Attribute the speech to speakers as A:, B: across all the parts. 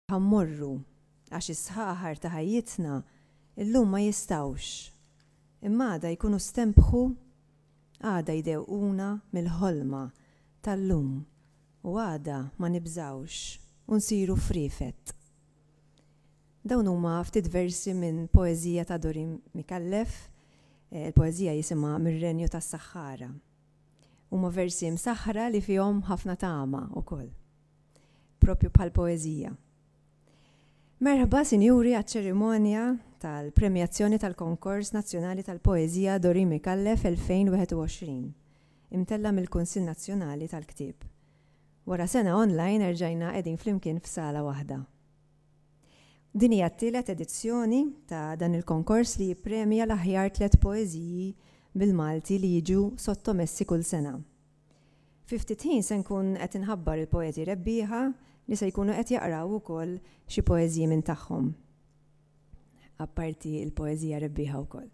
A: Ħa mmorru, għax is-sħaħar ta' ħajjitna llum ma jistgħux, imma għada jkunu stenbħu, għada jdewquna mill-ħolma tal-lum u għada ma nibżgħux u nsiru friefet. Dawn huma ftit versi minn poeżija ta' Doreen Micallef, il-poeżija jisimha Mir-Renju tas-Saħħara. Huma versi msaħħra li fihom ħafna tama wkoll. Propju bħal poeżija. Merħba, sinjuri, għaċ-ċerimonja tal-premjazzjoni tal-Konkors Nazzjonali tal-Poeżija Doreen Micallef 2021, imtella' mill-Kunsill Nazzjonali tal-Ktieb. Wara sena online erġajna qegħdin flimkien f'sala waħda. Din hija t-tielet edizzjoni ta' dan il-konkors li jippremja l-aħjar tlett poeżiji bil-Malti li jiġu sottomessi kull sena. Fi ftit ħin se nkun qed inħabbar il-poeti rebbieħa li se jkunu qed jaqraw ukoll xi poeżiji minn tagħhom. Apparti l-poeżija rebbieħa wkoll.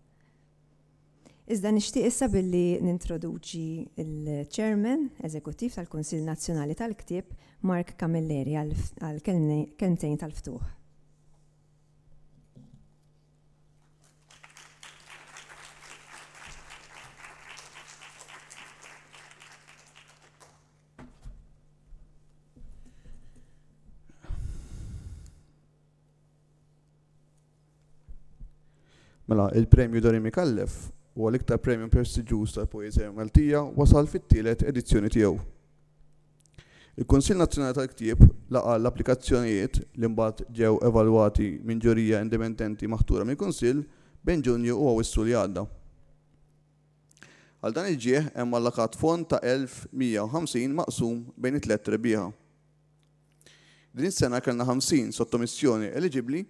A: Iżda nixtieq issa billi nintroduċi l-Chairman Eżekuttiv tal-Kunsill Nazzjonali tal-Ktieb, Mark Camilleri, għal kelmtejn tal-ftuħ.
B: Mela, il-Premju Dori Micallef huwa l-iktar premju prestiġjuż tal-poeżija Maltija wasal fit-tielet edizzjoni tiegħu. Il-Kunsill Nazzjonali tal-Ktieb laqa' l-applikazzjonijiet li mbagħad ġew evalwati minn ġurija indipendenti maħtura mill-Kunsill bejn Ġunju u Awwissu li għadda. Għal dan il-ġieħ hemm allokat fond ta' 1,150 maqsum bejn it-tlett rebbieħa. Din is-sena kellna 50 sottomissjoni eliġibbli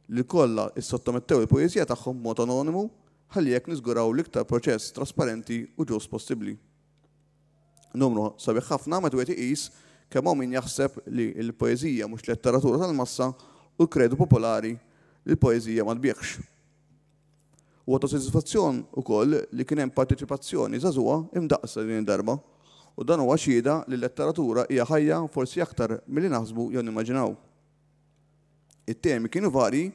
B: li kollha issottomettew il-poeżija tagħhom b'mod anonimu ħalli hekk niżguraw l-iktar proċess trasparenti u ġust possibbli. Numru sabiħ ħafna meta wieħed iqis kemm hawn min jaħseb li l-poeżija mhux letteratura tal-massa u l-kredu popolari li l-poeżija ma tbigħx. Huwa ta' sodisfazzjon ukoll li kien hemm parteċipazzjoni żagħżugħa imdaqqsa din id-darba u dan huwa xhieda li l-letteratura hija ħajja forsi aktar milli naħsbu jew nimmaġinaw. It-temi kienu varji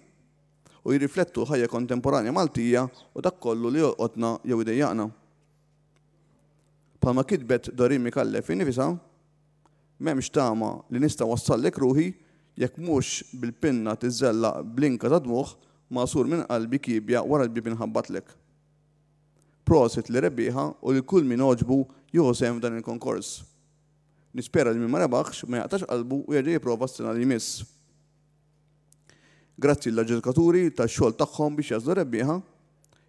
B: u jirriflettu l-ħajja kontemporanja Maltija u dak kollu li jolqotna jew idejjaqna. Bħalma kitbet Doreen Micallef innifisha, M'hemmx tama li nista' wassallek ruħi jekk mhux bil-pinna tiżżellaq blinka ta' dmugħ magħsur minn qalbi kiebja wara l-bieb inħabbatlek. Prosit lir-rebbieħa u lil kull min għoġbu jieħu sehem f'dan il-konkors. Nispera li min ma rebaħx ma jaqtax qalbu u jerġa' jipprova s-sena li jmiss. Grazzi lill-aġġudikaturi tax-xogħol tagħhom biex jagħżlu r-rebbieħa.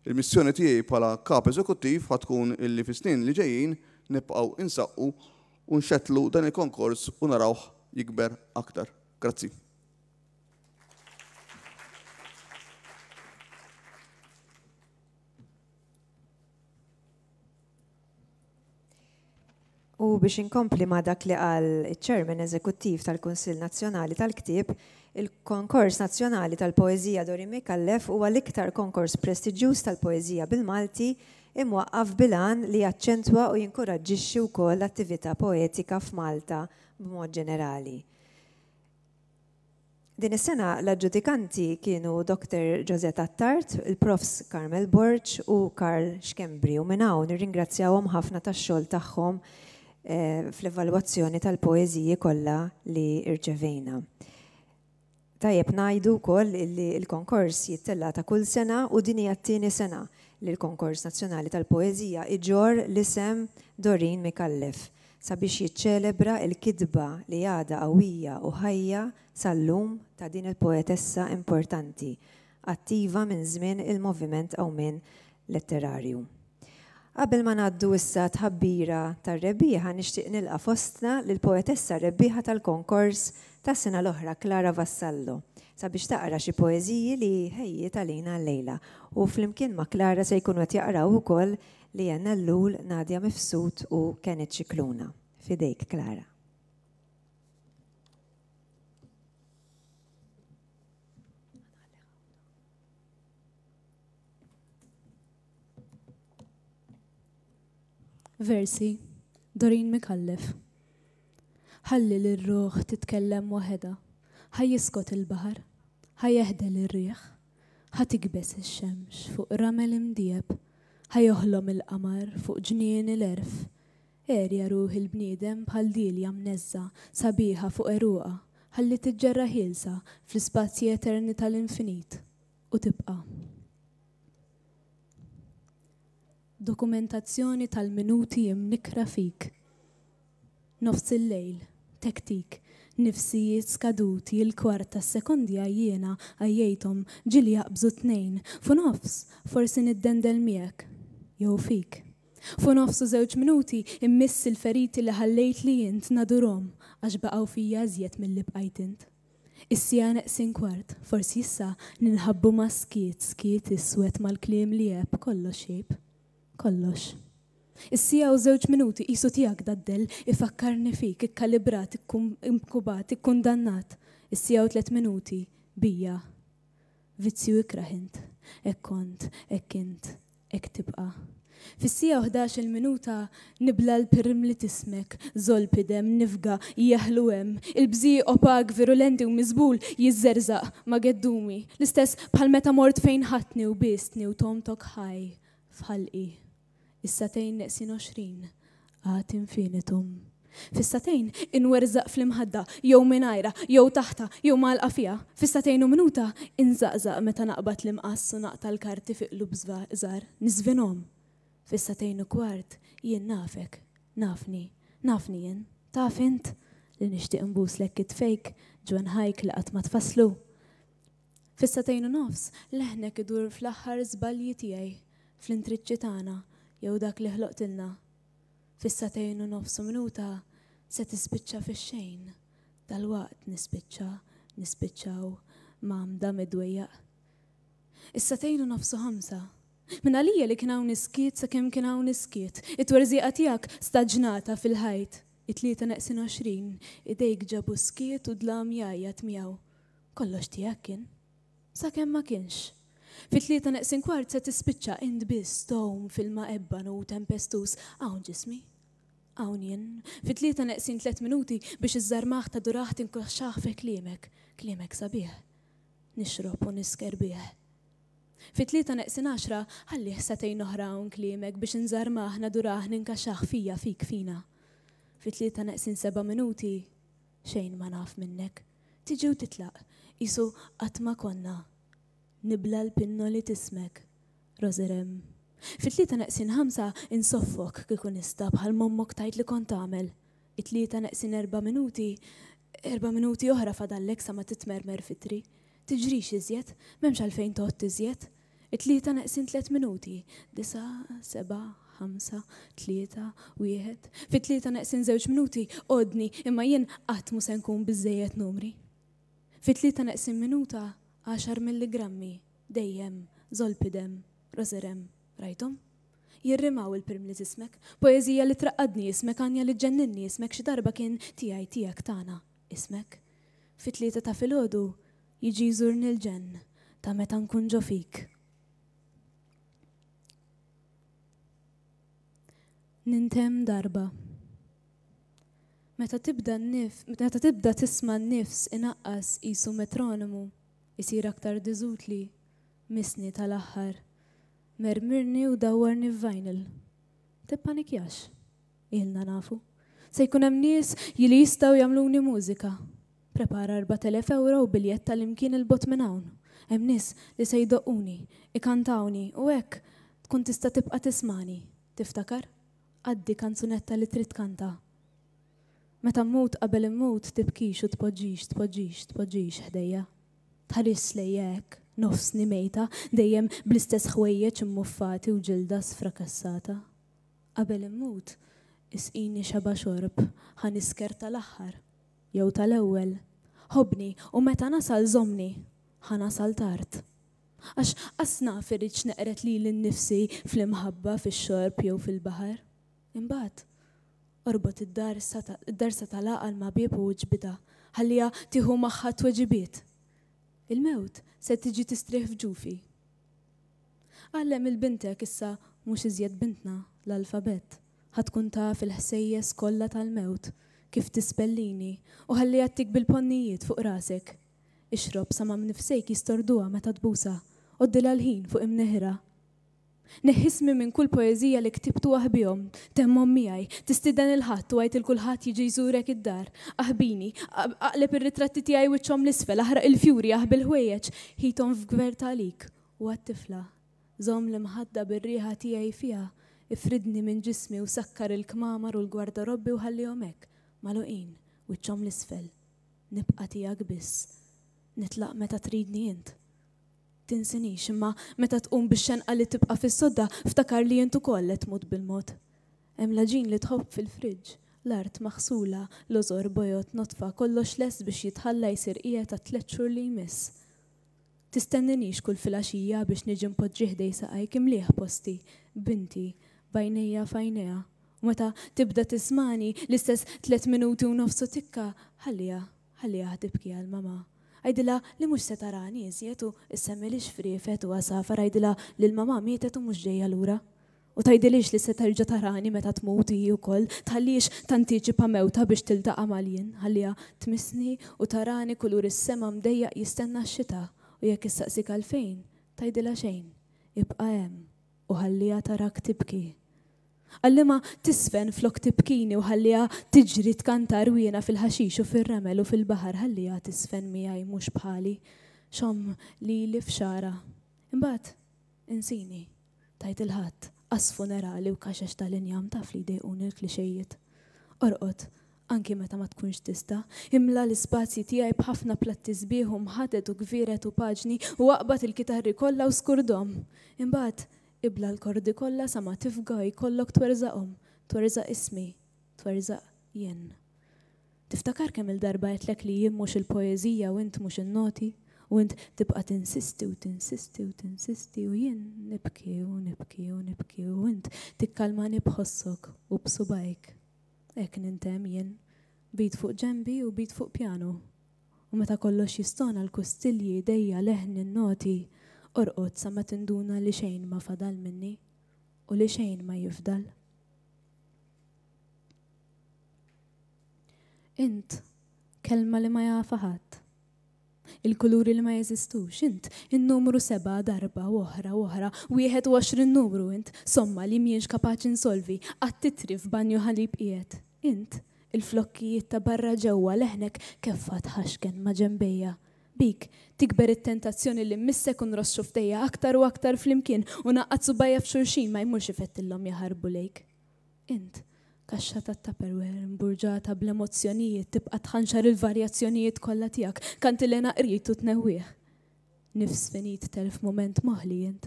B: Il-missjoni tiegħi bħala Kap Eżekuttiv ħa tkun illi fis-snin li ġejjin nibqgħu insaqqu u nxettlu dan il-konkors u narawh jikber aktar. Grazzi.
A: U biex inkompli ma' dak li qal iċ-Chairman Eżekuttiv tal-Kunsill Nazzjonali tal-Ktieb, il-Konkors Nazzjonali tal-Poeżija Doreen Micallef huwa l-iktar konkors prestiġjuż tal-poeżija bil-Malti imwaqqaf bil-għan li jaċċentwa u jinkuraġġixxi wkoll l-attività poetika f'Malta b'mod ġenerali. Din is-sena l-aġġudikanti kienu Dr. Josette Attard, il-Profs Carmel Borg u Karl Schembri u minn hawn nirringrazzjawhom ħafna tax-xogħol tagħhom eh, fl-evalwazzjoni tal-poeżiji kollha li rċevejna. Tajjeb ngħidu wkoll li l-konkors jittella' ta' kull sena u din hija t-tieni sena li l-Konkors Nazzjonali tal-Poeżija iġorr l-isem Doreen Micallef sabiex jiċċelebra l-kitba li għadha qawwija u ħajja sal-lum ta' din il-poetessa importanti, attiva minn żmien il-Moviment Qawmien Letterarju. Qabel ma ngħaddu issa għat-tħabbira tar-rebbieħa nixtieq nilqa' fostna lill-poetessa rebbieħa tal-konkors tas-sena l-oħra Clara Vassallo sabiex taqra xi poeżiji li ħejjiet għalina llejla u flimkien ma' Clara se jkunu qed jaqraw ukoll Leanne Ellul, Nadia Mifsud u Kenneth Scicluna. F'idejk Clara.
C: Versi, Doreen Micallef Ħalli lir-ruħ titkellem waħedha Ħa jiskot il-baħar Ħa jeħdel ir-riħ Ħa tikbes ix-xemx fuq ramel imdiegħeb Ħa joħlom il-qamar fuq ġnien il-għerf Għerja ruħ il-bniedem bħal dielja mneżżgħa sabiħa fuq għeruqha Ħalli tiġġerra ħielsa fl-ispazji eterni tal-infinit u tibqa'. Dokumentazzjoni tal-minuti imnikkra fik. Nofs il-lejl, tektik, nifsijiet skaduti, il-kwart tas-sekondi għajjiena, għajjejthom, ġieli jaqbżu t-tnejn. Fu nofs, forsi niddendel miegħek. Jew fik. Fu nofs u żewġ minuti, immiss il-feriti li ħallejtli int nadurhom għax baqgħu fija iżjed milli bqajt int. Is-siegħa neqsin kwart, forsi issa ninħabbu mas-skiet, skiet iswed mal-kliem li għeb, kollox jgħib. Kollox. Is-siegħa u żewġ minuti qisu tiegħek dad-dell, ifakkarni fik, ikkalibrat, inkubat, ikkundannat. Is-siegħa u tlett minuti, bija. Vizzju ikrah int. Hekk kont, hekk int. Hekk tibqa'. Fis-siegħa u 11-il minuta nibla' l-pirmli t'ismek, zolpidem, nifga, jeħlu hemm. Il-bżieq opak, virulenti u miżbul jiżżerżaq ma' geddumi, l-istess bħal meta mort fejn ħadtni u biestni u tgħomtok ħaj f'ħalqi. Is-sagħtejn neqsin 20, ad infinitum. Fis-sagħtejn inwerżaq fl-imħadda, jew mingħajrha, jew taħtha, jew mgħallqa fiha. Fis-sagħtejn u minuta inżaqżaq meta naqbad l-imqass u naqta' l-karti fi qlub żgħar, niżvinhom. Fis-sagħtejn u kwart jien nafek, nafni, nafni jien, taf int, li nixtieq nbuslek kitfejk, ġwenħajk li qatt ma tfasslu. Fis-sagħtejn u nofs leħnek idur fl-aħħar żbalji tiegħi, fl-intriċċi tagħna jew dak li ħloqtilna. Fis-sagħtejn u nofs u minuta se tispiċċa fix-xejn. Dalwaqt nispiċċa, nispiċċaw, mgħammda mid-dwejjaq. Is-sagħtejn u nofs u ħamsa. Minn għalija li kien hawn is-skiet sakemm kien hawn is-skiet. It-twerżieqa tiegħek staġnata fil-ħajt. It-tlieta neqsin 20, idejk ġabu s-skiet u dlam jgħajjat miegħu. Kollox tiegħek kien. Sakemm ma kienx. Fit-tlieta neqsin kwart se tispiċċa int biss tgħum f'ilma ebbanu u tempestuż. Hawn ġismi. Hawn jien. Fit-tlieta neqsin tlett minuti biex iżżarmah tadurah tinkaxxah fi kliemek. Kliemek sabiħ. Nixrob u nisker bih. Fit-tlieta neqsin għaxra ħallih sagħtejn oħra hawn kliemek biex inżarmah nadurah ninkaxxah fija fik fina. Fit-tlieta neqsin seba' minuti xejn ma naf minnek. Tiġi u titlaq, qisu qatt ma konna. Nibla' l-pinnoli t'ismek, Roserem. Fit-tlieta neqsin ħamsa insoffok kieku nista' bħal m'ommok tgħid li kont tagħmel. It-tlieta neqsin erba' minuti, erba' minuti oħra fadallek sa ma titmermer f'itri. Tiġrix iżjed, m'hemmx għalfejn tgħodd iżjed. It-tlieta neqsin tlett minuti, disgħa, sebgħa, ħamsa, tlieta, wieħed. Fit-tlieta neqsin żewġ minuti, għoddni, imma jien qatt mhu se nkun biżżejjed numri. Fit-tlieta neqsin minuta, għaxar milligrammi, dejjem, zolpidem, roserem, rajthom? Jirrimaw il-pirmli t'ismek, poeżija li traqqadni ismek, għanja li ġġenninni ismek xi darba kien tiegħi, tiegħek, tagħna, ismek. Fit-tlieta ta' filgħodu jiġi jżurni l-ġenn ta' meta nkun ġo fik. Nintemm darba. Meta tibda n-nif, meta tibda tisma' n-nifs inaqqas qisu metronomu, isir aktar diżutli, missni tal-aħħar. Mermirni u dawwarni f'vinyl. Tippanikjax. Ilna nafu. Se jkun hemm nies li jistgħu jagħmluni mużika. Prepara 4,000 ewro u biljett għal imkien 'il bogħod minn hawn. Hemm nies li se jdoqquni, ikantawni u hekk tkun tista' tibqa' tismagħni. Tiftakar? Għaddi kanzunetta li trid tkanta. Meta mmut qabel immut tibkix u tpoġġix, tpoġġix, tpoġġix ħdejja. Tħarisx lejja hekk, nofsni mejta, dejjem bl-istess ħwejjeġ immuffati u ġilda sfrakassata. Qabel immut, isqini xeba' xorb, ħa nisker tal-aħħar. Jew tal-ewwel. Ħobbni u meta nasal żommni. Ħa nasal tard. Għax qas naf irridx neqred lili nnifsi fl-imħabba, fix-xorb jew fil-baħar. Imbagħad, orbot id-darsa id-darsa tal-għaqal ma' bieb u iġbidha, ħalliha tieħu magħha t-tweġibiet. Il-mewt se tiġi tistrieħ f'ġufi. Għallem 'il bintek issa mhux iżjed bintna l-alfabett. Ħa tkun taf il-ħsejjes kollha tal-mewt, kif tispellini, u ħalliha ttik bil-ponnijiet fuq rasek. Ixrob sa ma mnifsejk jistorduha meta tbusha, għoddilha l-ħin fuq imneħirha. Neħħi ismi minn kull poeżija li ktibt u aħbihom, temmhom miegħi, tistieden 'il ħadd u għid 'il kulħadd jiġi jżurek id-dar. Aħbini, aqleb ir-ritratti tiegħi wiċċhom 'l isfel, aħraq il-fjuri, aħbi l-ħwejjeġ, ħithom f'gverta għalik u għat-tifla. Żomm l-imħadda bir-riħa tiegħi fiha, ifridni minn ġismi u sakkar il-kmamar u l-gwardarobbi u ħallihom hekk, magħluqin, wiċċhom 'l isfel. Nibqa' tiegħek biss. Nitlaq meta tridni int. Tinsinix, imma meta tqum bix-xenqa li tibqa' fis-sodda, ftakar li int ukoll qed tmut bil-mod. Hemm l-għaġin li tħobb fil-friġġ, l-art maħsula, lożor bojod nodfa, kollox lest biex jitħalla jsir qiegħed għat-tlett xhur li jmiss. Tistenninix kull filgħaxija biex niġi npoġġi ħdej saqajk imlieh posti, binti, b'għajnejja f'għajnejha. U meta tibda tismagħni, l-istess tlett minuti u nofs u tikka, ħalliha, ħalliha tibki għal mamà. Għidilha li mhux se tarani iżjed u ssemmilix friefet u għasafar għidilha li l-mamà mietet u mhux ġejja lura. U tgħidilhiex li se terġa' tarani meta tmut hi wkoll, tħallihiex tantiċipa mewtha biex tiltaqa' mal-jien, ħalliha tmissni u tarani kulur is-sema mdejjaq jistenna x-xita, u jekk issaqsik għalfejn, tgħidilha xejn, ibqa' hemm u ħalliha tarak tibki. Għallimha tiżfen flok tibkini u ħalliha tiġri tkanta għarwiena fil-ħaxix u fir-ramel u fil-baħar, ħalliha tiżfen miegħi mhux bħali, xomm lili f'xagħarha. Imbagħad insini. Tgħid il-Ħadd, qas funerali u kaxex tal-injam taf li jdejquni l-klixejiet. Orqod, anki meta ma tkunx tista'. Imla l-ispazji tiegħi b'ħafna platti sbieħ u mħaded u gvieret u paġni u aqbad il-kitarri kollha u skurdhom. Imbagħad, ibla' l-kordi kollha sa ma tifga u jkollok twerżaqhom, twerżaq ismi, twerżaq jien. Tiftakar kemm-il darba għedtlek li jien mhux il-poeżija u int mhux in-noti? U int tibqa' tinsisti u tinsisti u tinsisti u jien nibki u nibki u nibki u int tikkalmani b'ħossok u b'subgħajk. Hekk nintemm jien, b'id fuq ġenbi u b'id fuq pjanu. U meta kollox jistona l-kustilji, idejja, leħni, n-noti, orqod sa ma tinduna li xejn ma fadal minni u li xejn ma jifdal. Int, kelma li ma jafha ħadd. Il-kuluri li ma jeżistux, int, in-numru sebgħa darba u oħra u oħra, 21 numru int, somma li m'ienx kapaċi nsolvi, qatt titri f'banju ħalib qiegħed. Int, il-flokkijiet ta' barra ġewwa leħnek keffa tħaxken ma' ġenbejja. Bik, tikber it-tentazzjoni li mmissek u nross xufftejja aktar u aktar flimkien u ngħaqqad subgħajja f'xulxin ma jmurx ifettillhom jaħarbu lejk. Int, kaxxa tat-Tupperware mburġata bl-emozzjonijiet tibqa' tħanxar il-varjazzjonijiet kollha tiegħek, kantilena qrid u tnewwieħ. Nifs finit telf mument moħli int.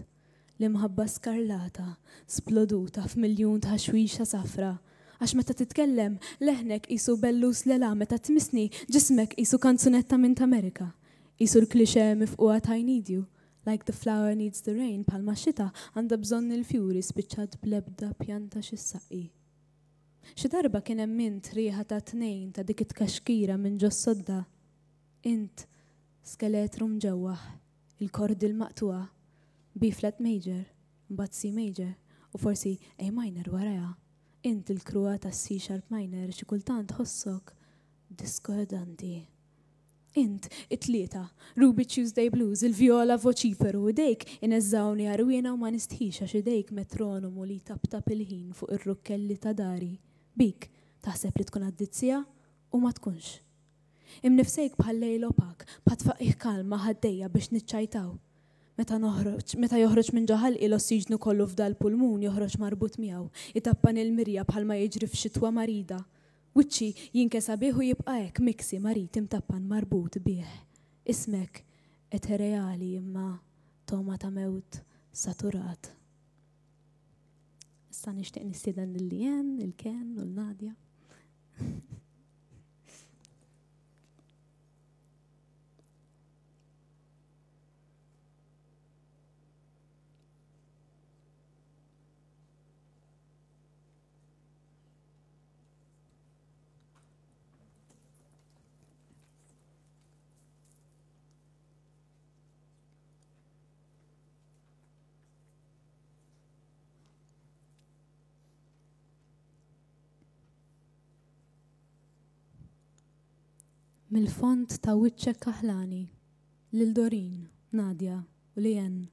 C: L-imħabba skarlata, sploduta f'miljun tħaxwixa safra. Għax meta titkellem, leħnek qisu bellus lela meta tmissni, ġismek qisu kanzunetta minn t'Amerika. Qisu l-cliché mifqugħa t'I need you. Like the flower needs the rain, bħalma x-xita għandha bżonn il-fjuri spiċċat bl-ebda pjanta xi ssaqqi. Xi darba kien hemm int riħa ta' tnejn ta' dik it-tkaxkira minn ġos-sodda. Int, skeletru mġewwaħ, il-kordi l-maqtugħa, B flat major, mbagħad C major, u forsi A minor warajha. Int il-kruha tas-C sharp minor xi kultant tħossok diskordanti. Int, it-tlieta, Ruby Tuesday Blues, il-vjola voċiferu, idejk ineżżgħuni għarwiena u ma nistħix għax idejk metronomu li jtaptap il-ħin fuq ir-rukkelli ta' dari. Bik, taħseb li tkun għaddiet siegħa u ma tkunx. Imnifsejk bħal lejl opak, bħat-tfaqqigħ kalm ma' ħaddejja biex niċċajtaw. Meta noħroġ, meta joħroġ minn ġo ħalqi l-ossiġnu kollu f'dal-pulmun joħroġ marbut miegħu, itappan il-mirja bħalma jiġri f'xitwa marida. Wiċċi jinkesa bih u jibqa' hekk miksi marid imtappan marbut bih. Ismek etereali imma togħma ta' mewt saturat. Issa nixtieq nistieden lil Leanne, lil Ken u lil Nadia. Mill-fond ta' wiċċek kaħlani, lil Doreen, Nadia u Leanne,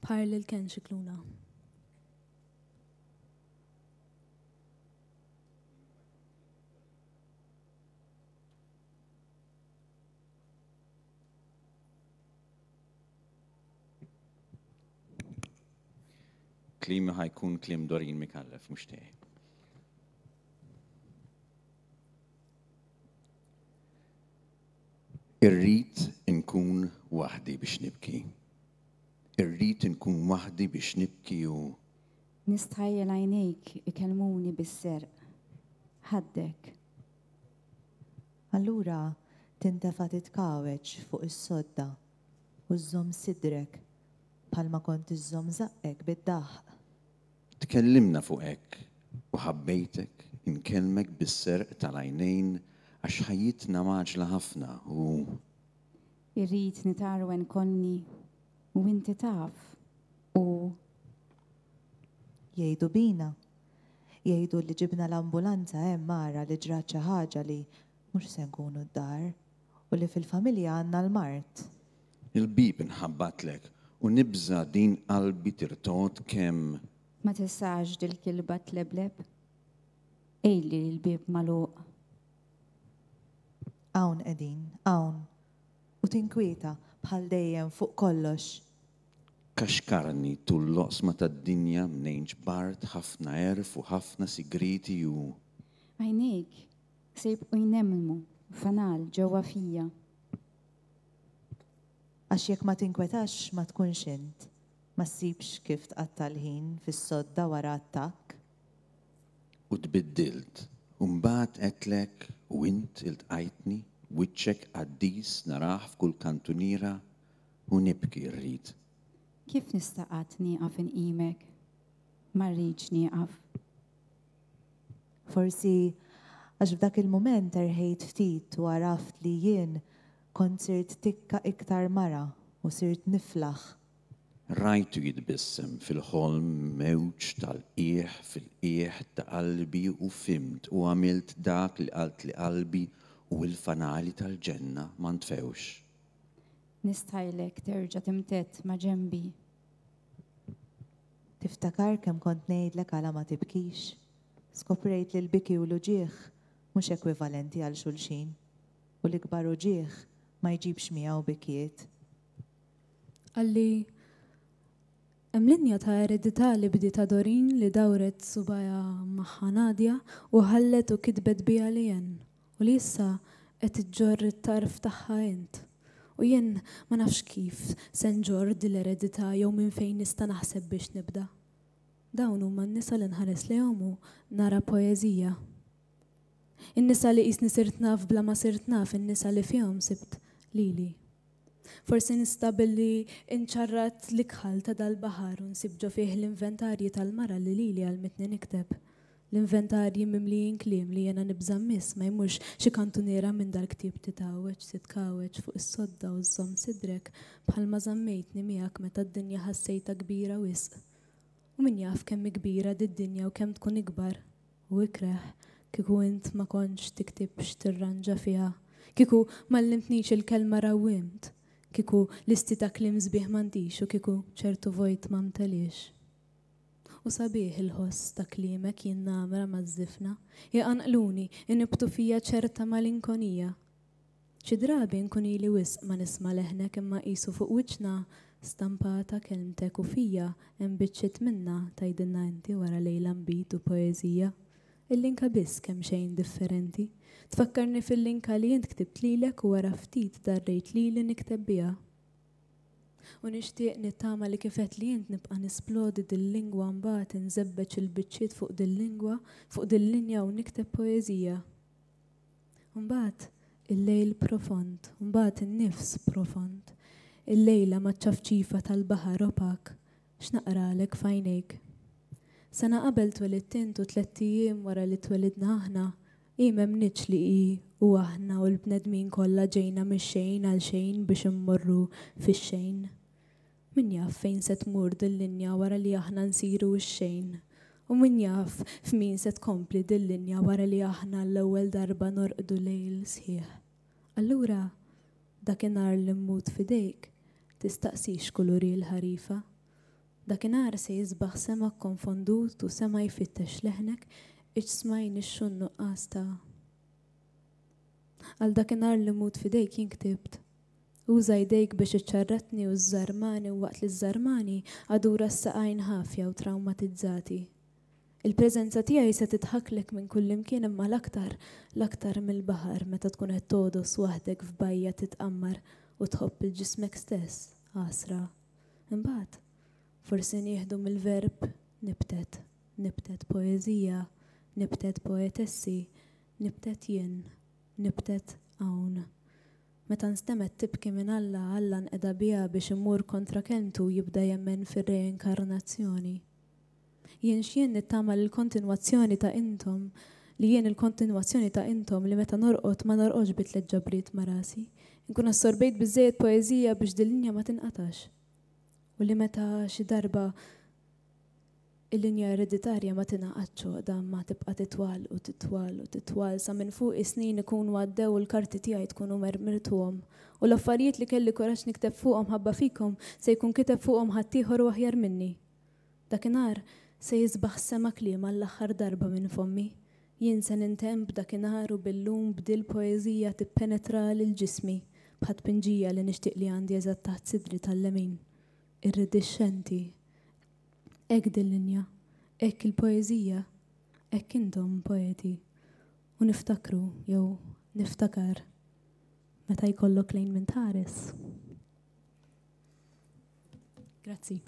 C: bħar lil Ken Scicluna.
D: Kliemi ħa jkun kliem Doreen Micallef, mhux tiegħi. Irrid inkun waħdi biex nibki. Irrid inkun waħdi biex nibki u.
E: Nistħajjel għajnejk ikellmuni bis-serq. Ħaddek.
A: Allura tintefa' titkagħweġ fuq is-sodda u żżomm sidrek bħalma kont iżżomm żaqqek bid-daħq.
D: Tkellimna fuq hekk u ħabbejtek inkellmek bis-serq tal-għajnejn għax ħajjitna mgħaġġla ħafna u.
E: Irrid nitgħarwen kollni u inti taf u.
A: Jgħidu bina. Jgħidu li ġibna l-ambulanza hemm ara li ġrat xi ħaġa li mhux se nkunu d-dar u li fil-familja għandna l-mard.
D: Il-bieb inħabbatlek u nibża' din qalbi tirtogħod kemm.
E: Ma tistax dil-kilba tlebleb? Għidli li l-bieb magħluq.
A: Hawn qegħdin, hawn. U tinkwieta, bħal dejjem, fuq kollox.
D: Kaxkarni tul l-oqsma tad-dinja mnejn ġbart ħafna għerf u ħafna sigrieti u.
E: Għajnejk se jibqgħu jnemnmu fanal ġewwa fija.
A: Għax jekk ma tinkwetax ma tkunx int, ma ssibx kif tqatta' l-ħin fis-sodda wara attakk.
D: U tbiddilt, u mbagħad għedtlek u int iltqajtni, wiċċek qaddis narah f'kull kantuniera u nibki rrid.
E: Kif nista' qatt nieqaf inqimek? Ma rridx nieqaf.
A: Forsi għax f'dak il-mument erħejt ftit u għaraft li jien kont sirt tikka iktar mara u sirt niflaħ.
D: Rajtu jitbissem fil-ħolm mewġ tal-qiegħ fil-qiegħ ta' qalbi u fhimt u għamilt dak li qaltli qalbi u l-fanali tal-ġenna ma ntfewx.
E: Nistħajlek terġa' timtedd ma' ġenbi.
A: Tiftakar kemm kont ngħidlek għala ma tibkix? Skoprejt li l-biki u l-uġigħ mhux ekwivalenti għal xulxin, u l-ikbar uġigħ ma jġibx miegħu bikjiet.
C: Qalli, Hemm linja ta' eredità li bdietha Doreen li dawret subgħajha magħha Nadia u ħallet u kitbet biha Leanne. U li issa qed iġġorr it-tarf tagħha int. U jien ma nafx kif se nġorr dil-eredità jew minn fejn nista' naħseb biex nibda. Dawn huma n-nisa li nħares lejhom u nara poeżija. In-nisa li qisni sirt naf bla ma sirt naf, in-nisa li fihom sibt lili. Forsi nista' billi nċarrat l-ikħal ta' dal-baħar u nsib ġo fih l-inventarji tal-mara li lili għallmitni nikteb. L-inventarji mimlijin kliem li jiena nibża' mmiss ma jmurx xi kantuniera minn dal-ktieb titgħawweġ, titkagħweġ fuq is-sodda u żżomm sidrek bħalma żammejtni miegħek meta d-dinja ħassejtha kbira wisq. U min jaf kemm hi kbira did-dinja u kemm tkun ikbar u ikreh kieku int ma kontx tiktib x'tirranġa fiha, kieku m'għallimtnix il-kelma rawwimt, kieku listi ta' kliem sbieħ m'għandix u kieku ċertu vojt ma mteliex. U sabiħ il-ħoss ta' kliemek jinnamra maż-żifna, iqanqluni, inibbtu fija ċerta malinkonija. Xi drabi nkun ili wisq ma nisma' leħnek imma qisu fuq wiċċna stampata kelmtek u fija hemm biċċiet minnha tgħidilna inti wara lejla nbid u poeżija. Il-linka biss kemxejn differenti. Tfakkarni fil-linka li int ktibt lilek u wara ftit darrejt lili nikteb biha. U nixtieq nittama li kif għedtli int nibqa' nisplodi dil-lingwa mbagħad inżebbeġ il-biċċiet fuq dil-lingwa, fuq dil-linja u nikteb poeżija. U mbagħad il-lejl profond, u mbagħad in-nifs profond. Illejla maċ-ċafċifa tal-baħar opak, x'naqralek f'għajnejk? Sena qabel twelidt int u tlett ijiem wara li twelidna aħna, Hi m'emmnitx li hi u aħna u l-bnedmin kollha ġejna mix-xejn għal xejn biex immorru fix-xejn. Min jaf fejn se tmur dil-linja wara li aħna nsiru x-xejn? U min jaf f'min se tkompli dil-linja wara li aħna għall-ewwel darba norqdu lejl sħiħ? Allura, dakinhar li mmut f'idejk, tistaqsix kulur hi l-ħarifa. Dakinhar se jisbaħ sema kkonfondut u sema jfittex leħnek, iġsma jnixxu n-nuqqas ta'. Għal dakinhar li mmut f'idejk jien ktibt. Uża jdejk biex iċċarratni u żżarmani u waqt li żżarmani, adura s-saqajn ħafja u trawmatizzati. Il-preżenza tiegħi se tidħaklek minn kullimkien imma l-aktar, l-aktar mill-baħar meta tkun qed togħdos waħdek f'bajja titqammar u tħobb 'il ġismek stess, għasra. Imbagħad, forsi nieħdu mill-verb nibtet, nibtet poeżija, nibtet poetessi, nibtet jien, nibtet hawn. Meta nstemgħet tibki minn Alla, Alla nqeda biha biex imur kontra kelmtu u jibda jemmen fir-reinkarnazzjoni. Jien x'jien nittama li l-kontinwazzjoni ta' intom, li jien il-kontinwazzjoni ta' intom li meta norqod ma norqodx bi tlett ġabriet ma' rasi. Inkun assorbejt biżżejjed poeżija biex dil-linja ma tinqatax. U li meta xi darba il-linja ereditarja ma tingħaqadx għoqda imma tibqa' titwal u titwal u titwal sa minn fuqi snin ikunu għaddew u l-karti tiegħi tkunu mermirtuhom. U l-affarijiet li kelli kuraġġ nikteb fuqhom ħabba fikom se jkun kiteb fuqhom ħaddieħor u aħjar minni. Dakinhar se jisbaħ sema kliem għall-aħħar darba minn fommi. Jien se nintemm b'dakinhar u bil-lum b'dil-poeżija tippenetra lil ġismi bħat-tpinġija li nixtieq li għandi eżatt taħt sidri tal-lemin. Irridixxenti. Hekk dil-linja. Hekk il-poeżija. Hekk intom, poeti. U niftakru, jew niftakar, meta jkollok lejn min tħares. Grazzi.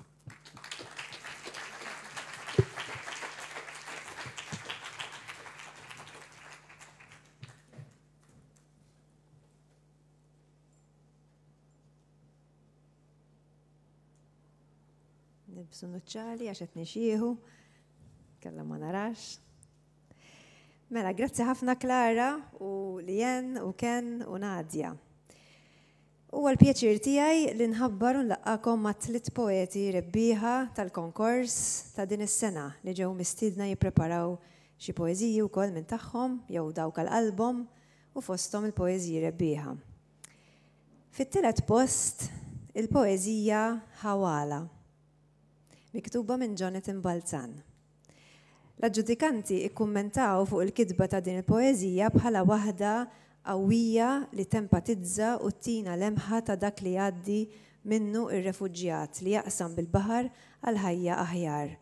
A: Nibsu nuċċali għax qed nixieħu, kella ma narax. Mela, grazzi ħafna Klara u Lien u Ken u Nadja. Huwa l-pjaċir tiegħi li nħabbar u nlaqqagħkom mat-tliet poeti rebbieħa tal-konkors ta' din is-sena li ġew mistiedna jippreparaw xi poeżiji wkoll minn tagħhom jew dawk għal qalbhom u fosthom il-poeżiji rebbieħa. Fit-tielet post il-poeżija Ħawala miktuba minn Jonathan Balzan. L-aġġudikanti kkummentaw fuq il-kitba ta' din il-poeżija bħala waħda qawwija li tempatizza u ttina lemħa ta' dak li jgħaddi minnu r-refuġjat li jaqsam bil-baħar għal ħajja aħjar.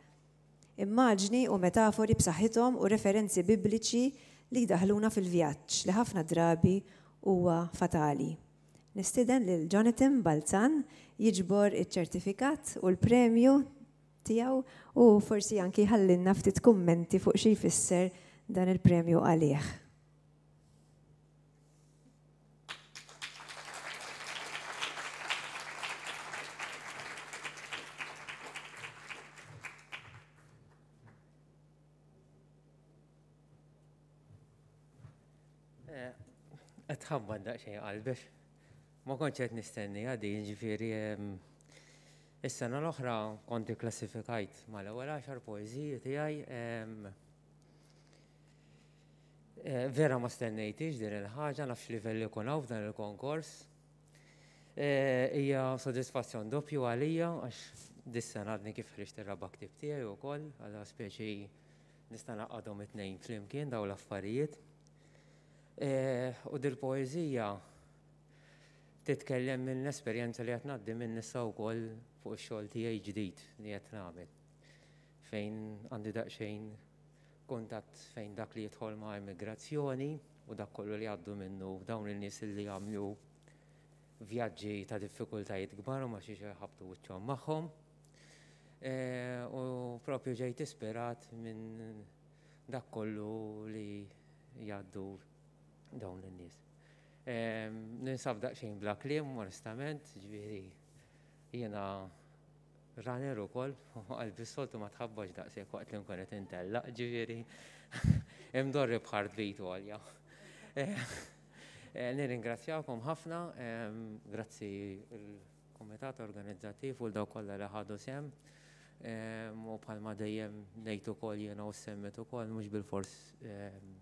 A: Immaġni u metafori b'saħħithom u referenzi bibliċi li jdaħħluna fil-vjaġġ li ħafna drabi huwa fatali. Nistieden lil Jonathan Balzan jiġbor iċ-ċertifikat u l-premju tiegħu u forsi anki jħallilna ftit kummenti fuq xi jfisser dan il-premju għalih.
F: Qed tħabbat daqsxejn qalbex. Ma kontx qed nistenniha din, ġifieri is-sena l-oħra kont ikklassifikajt mal-ewwel għaxar poeżiji tiegħi. Eh, vera ma stennejtix din il-ħaġa, nafx livell ikun hawn f'dan il-konkors. Eh, hija sodisfazzjon doppju għalija għax dis-sena għadni kif ħriġt ir-raba' ktieb tiegħi wkoll, għal speċi nista' naqadhom it-tnejn flimkien dawn l-affarijiet. Eh, u dil-poeżija titkellem minn esperjenza li qed ngħaddi minn issa wkoll fuq ix-xogħol tiegħi ġdid li qed nagħmel. Fejn għandi daqsxejn kuntatt fejn dak li jidħol ma' immigrazzjoni u dak kollu li għaddu minnu dawn in-nies li jagħmlu vjaġġi ta' diffikultajiet kbar u ma xiex jħabtu wiċċhom magħhom. E, u propju ġejt ispirat minn dak kollu li jgħaddu dawn in-nies. E, ninsab daqsxejn bla kliem, onestament, ġifieri jiena runner ukoll, qalbi s-soltu ma tħabbax daqshekk waqt li nkun qed intellaq, ġifieri imdorri b'heartbeat għolja. Eh, eh, nirringrazzjakom ħafna, ehm, grazzi il-Kumitat Organizzattiv u l-dawk kollha li ħadu sehem. Ehm, u bħalma dejjem ngħid ukoll jiena u semmet ukoll mhux bilfors ehm,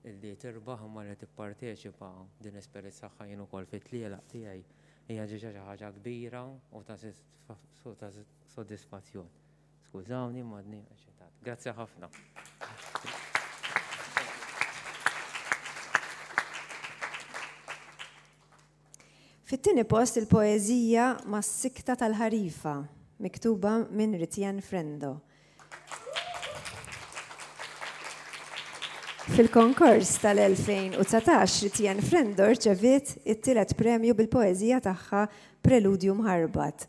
F: Illi tirbaħ imma li tipparteċipa din l-esperjenza saħħa jien ukoll fit-tlielaq tiegħi hija ġiġa xi ħaġa kbira u ta' sodisfazzjon. Skużawni ma għadni eċitat. Grazzi ħafna.
A: Fit-tieni post il-poeżija Mas-Sikta tal-Ħarifa, miktuba minn Ritienne Frendo. Fil-konkors tal-2019, Ritienne Frendo rċeviet it-tielet premju bil-poeżija tagħha Preludju Mħarbat.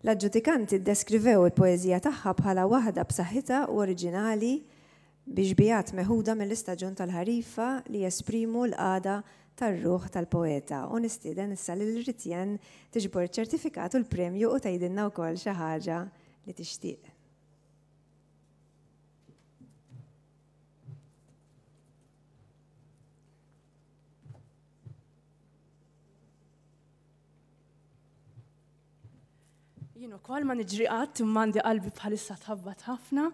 A: L-aġġudikanti ddeskrivew il-poeżija tagħha bħala waħda b'saħħitha u oriġinali bi xbihat meħuda mill-istaġun tal-ħarifa li jesprimu l-qagħda tar-ruħ tal-poeta u nistieden issa lil Ritienne tiġbor iċ-ċertifikat u l-premju u tgħidilna wkoll xi ħaġa li tixtieq.
G: Jien ukoll ma niġri qatt imma għandi qalbi bħalissa tħabbat ħafna,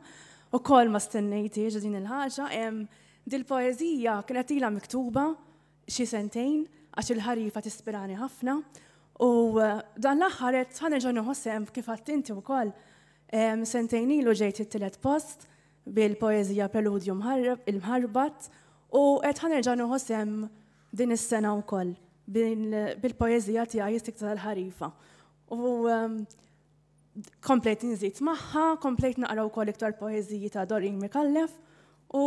G: ukoll ma stennejtiex din il-ħaġa. Dil-poeżija kienet ilha miktuba xi sentejn għax il-ħarifa tispirani ħafna u eh, dan l-aħħar qed ħanerġa' nieħu sehem kif għadt inti wkoll. Sentejn ilu ġejt it-tielet post bil-poeżija Preludju il-Mħarbat u qed ħanerġa' nieħu sehem din is-sena wkoll bil-poeżija tiegħi Istikta tal-Ħarifa. U ehm, komplejt nżid magħha, komplejt naqra wkoll iktar poeżiji ta' Doreen Mikallef u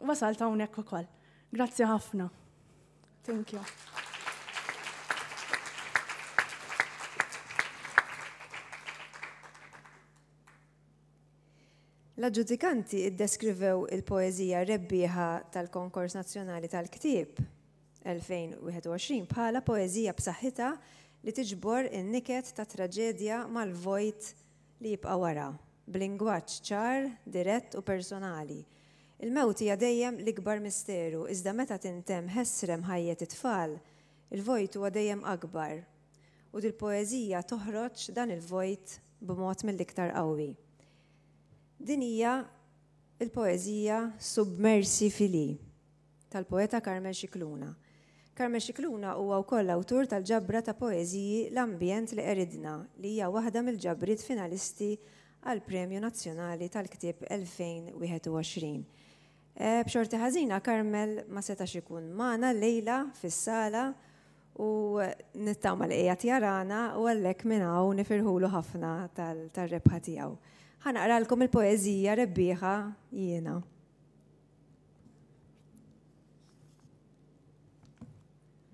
G: wasalt hawnhekk ukoll. Grazzi ħafna. Thank you.
A: L-aġġudikanti ddeskrivew il-poeżija rebbieħa tal-Konkors Nazzjonali tal-Ktieb 2021 bħala poeżija b'saħħitha li tiġbor in-niket ta' traġedja mal-vojt li jibqa' wara, b'lingwaġġ ċar, dirett u personali. Il-mewt hija dejjem l-ikbar misteru iżda meta tintemm ħesrem ħajjet it-tfal, il-vojt huwa dejjem akbar u dil-poeżija toħroġ dan il-vojt b'mod mill-iktar qawwi. Din hija l-poeżija Submersi Fili tal-poeta Carmel Scicluna. Carmel Scicluna huwa wkoll awtur tal-ġabra ta' poeżiji L-Ambjent li Qeridna li hija waħda mill-ġabriet finalisti għall-Premju Nazzjonali tal-Ktieb 2021. B'xorti ħażina Carmel ma setax ikun magħna llejla fis-sala u nittama li qiegħed jarana u għalhekk minn hawn nifirħulu ħafna tar-rebħa tiegħu. Ħa naqralkom il-poeżija rebbieħa jiena.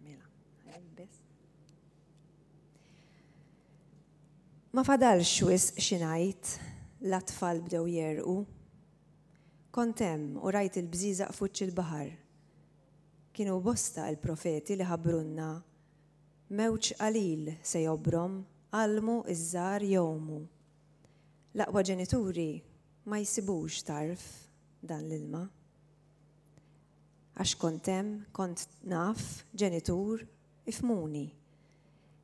A: Mela, Ma fadalx wisq xi ngħid, l-atfal bdew jerqu. Kont hemm u rajt il-bżieżaq f'wiċċ il-baħar. Kienu bosta l-profeti li ħabbrulna, Mewġ qalil se jobrom, għallmu ż-żgħar jgħumu. L-aqwa ġenituri ma jsibux tarf dan l-ilma. Għax kont hemm, kont naf, ġenitur, ifhmuni.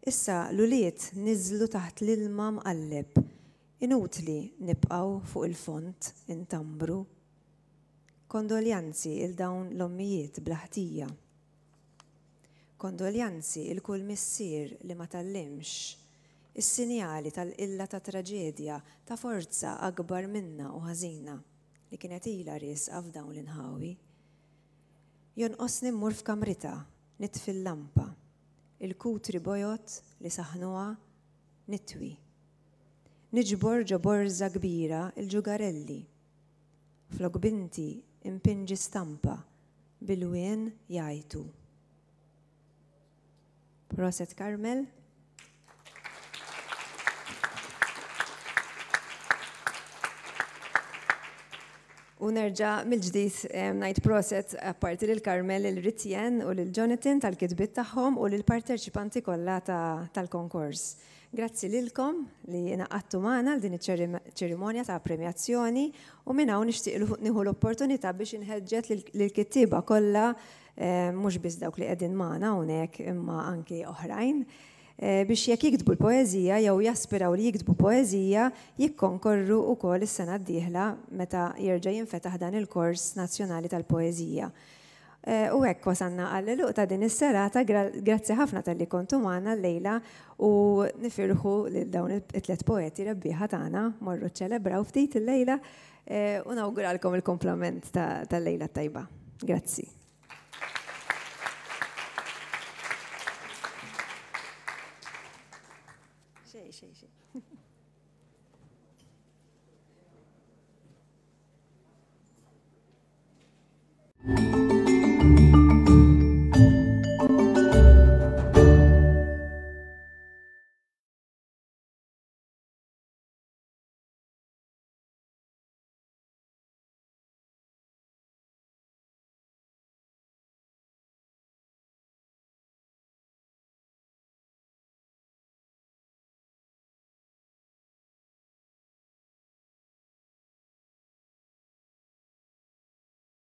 A: Issa l-ulied niżlu taħt l-ilma mqalleb, inutli nibqgħu fuq il-fond intambru. Kondoljanzi 'il dawn l-ommijiet bla ħtija. Kondoljanzi 'il kull missier li ma tgħallimx is-sinjali tal-qilla ta' traġedja ta' forza akbar minna u ħażina li kienet ilha riesqa f'dawn l-inħawi. Jonqosni mmur f'kamritha, nitfi l-lampa, il-kutri bojod li saħħnuha, nitwi. Niġbor ġo borża kbira l-ġugarelli. Flok binti npinġi stampa bil-lwien jgħajtu. Proset Carmel. U nerġa' mill-ġdid ngħid proset apparti lil Carmel, lil Ritjen u lil Jonathan tal-kitbiet tagħhom u lill-parteċipanti kollha tal-konkors. Grazzi lilkom li ingħaqadtu magħna għal din iċ-ċerimonja ta' premjazzjoni u minn hawn nixtieq nieħu l-opportunità biex inħeġġet lill-kittieba kollha eh, mhux biss dawk li qegħdin magħna hawnhekk imma anki oħrajn eh, biex jekk jiktbu l-poeżija jew jaspiraw li jiktbu poeżija jikkonkorru wkoll is-sena d-dieħla meta jerġa' jinfetaħ dan il-kors nazzjonali tal-poeżija. Eh, u hekk wasanna għall-għeluq ta' din is-serata, grazzi ħafna talli kontu magħna llejla u nifirħu lil dawn it-tlet poeti rebbieħa tagħna, morru ċċelebraw ftit illejla eh, u nawguralkom il-komplament tal-lejla tajba. Grazzi.